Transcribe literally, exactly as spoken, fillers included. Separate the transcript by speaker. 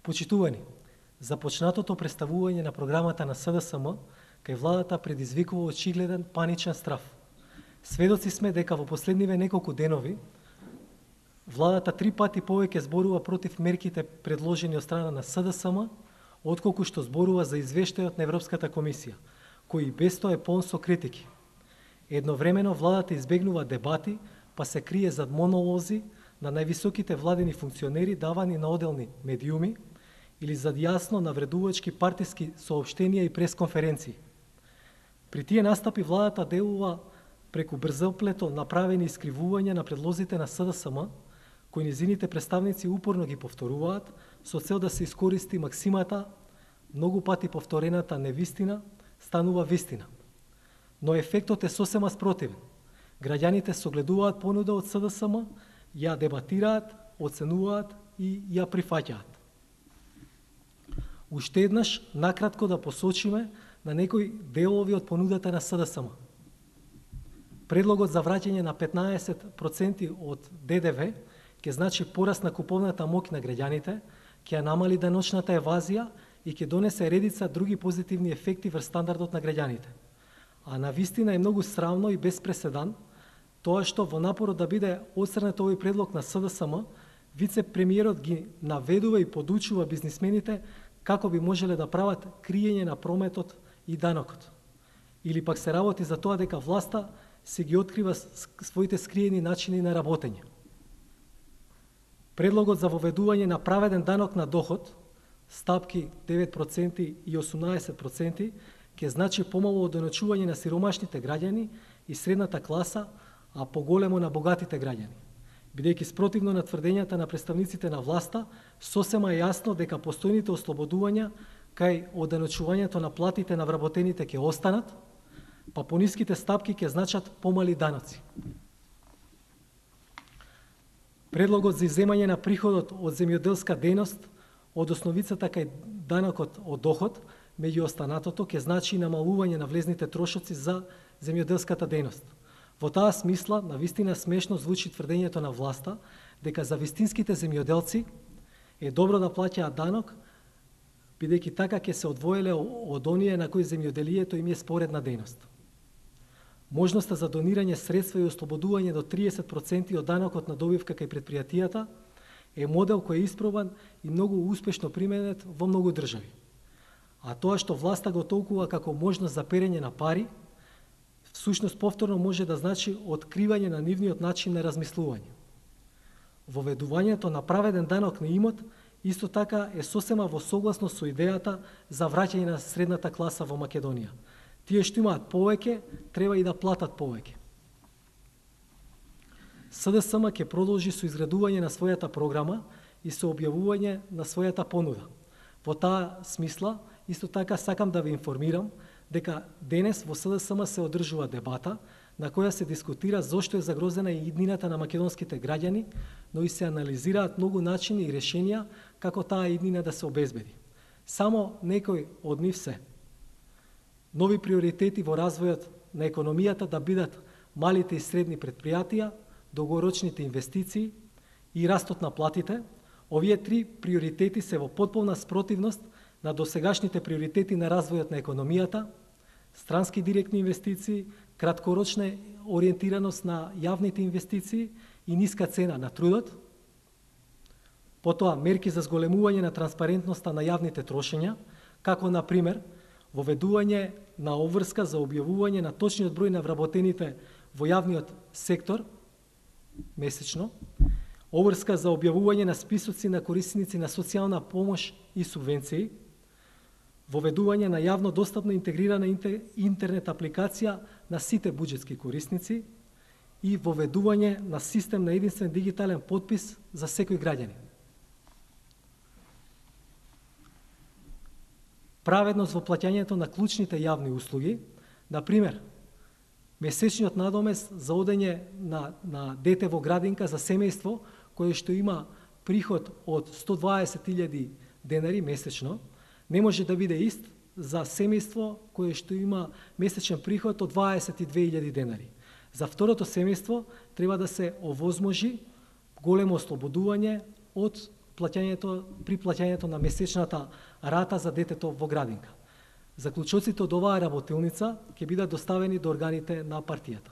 Speaker 1: Почитувани, започнатото представување на програмата на С Д С М кај владата предизвикува очигледен паничен страв. Сведоци сме дека во последниве неколку денови владата три пати повеќе зборува против мерките предложени од страна на С Д С М, отколку што зборува за извештајот на Европската комисија, кој без тоа е полн со критики. Едновремено владата избегнува дебати, па се крие зад монолози на највисоките владени функционери давани на оделни медиуми или зад јасно навредувачки партиски соопштенија и пресконференции. При тие настапи владата делува преку брзоплето направени искривувања на предлозите на С Д С М, кои низините представници упорно ги повторуваат со цел да се искористи максимата многу пати повторената невистина станува вистина. Но ефектот е сосема спротивен. Граѓаните согледуваат понуда од С Д С М, ја дебатираат, оценуваат и ја прифаќаат. Уште еднаш, накратко да посочиме на некои делови од понудата на С Д С М. Предлогот за враќање на петнаесет проценти од Д Д В ќе значи пораст на куповната моќ на граѓаните, ќе ја намали деночната евазија и ќе донесе редица други позитивни ефекти врз стандардот на граѓаните. А навистина е многу срамно и без преседан тоа што во напорот да биде отстранет овој предлог на С Д С М, вице-премиерот ги наведува и подучува бизнисмените како би можеле да прават криење на прометот и данокот. Или пак се работи за тоа дека власта се ги открива своите скриени начини на работење. Предлогот за воведување на праведен данок на доход, стапки девет проценти и осумнаесет проценти, ќе значи помало одоночување на сиромашните граѓани и средната класа, а поголемо на богатите граѓани. Бидејќи спротивно на тврдењата на представниците на власта, сосема е јасно дека постојните ослободувања кај одоночувањето на платите на вработените ќе останат, па пониските стапки ќе значат помали даноци. Предлогот за изземање на приходот од земјоделска дејност од основицата кај данокот од доход, меѓу останатото, ќе значи намалување на влезните трошоци за земјоделската дејност. Во таа смисла, навистина смешно звучи тврдењето на власта дека за вистинските земјоделци е добро да плаќаат данок, бидејќи така ќе се одвоеле од оние на кои земјоделието им е споредна дејност. Можноста за донирање средства и ослободување до триесет проценти од данокот на добивка кај предпријатијата е модел кој е испробан и многу успешно применет во многу држави. А тоа што власта го толкува како можност за перење на пари, всушност повторно може да значи откривање на нивниот начин на размислување. Воведувањето на праведен данок на имот исто така е сосема во согласност со идејата за враќање на средната класа во Македонија. Тие што имаат повеќе, треба и да платат повеќе. С Д С М ќе продолжи со изградување на својата програма и со објавување на својата понуда. Во таа смисла, исто така сакам да ве информирам дека денес во С Д С М се одржува дебата на која се дискутира зошто е загрозена и иднината на македонските граѓани, но и се анализираат многу начини и решенија како таа иднина да се обезбеди. Само некои од нив се: нови приоритети во развојот на економијата да бидат малите и средни предпријатија, долгорочните инвестиции и растот на платите. Овие три приоритети се во потполна спротивност на досегашните приоритети на развојот на економијата, странски директни инвестиции, краткорочна ориентираност на јавните инвестиции и ниска цена на трудот. Потоа мерки за зголемување на транспарентноста на јавните трошења, како на пример воведување на обврска за објавување на точниот број на вработените во јавниот сектор месечно, обврска за објавување на списоци на корисници на социјална помош и субвенции, воведување на јавно достапна интегрирана интернет апликација на сите буџетски корисници и воведување на систем на единствен дигитален потпис за секој граѓанин. Праведност во плаќањето на клучните јавни услуги, на пример, месечниот надомес за одење на, на дете во градинка за семејство кое што има приход од сто дваесет илјади денари месечно, не може да биде ист за семејство кое што има месечен приход од дваесет и две илјади денари. За второто семејство треба да се овозможи големо ослободување од плаќањето при плаќањето на месечната рата за детето во градинка. Заклучоците од оваа работилница ќе бидат доставени до органите на партијата.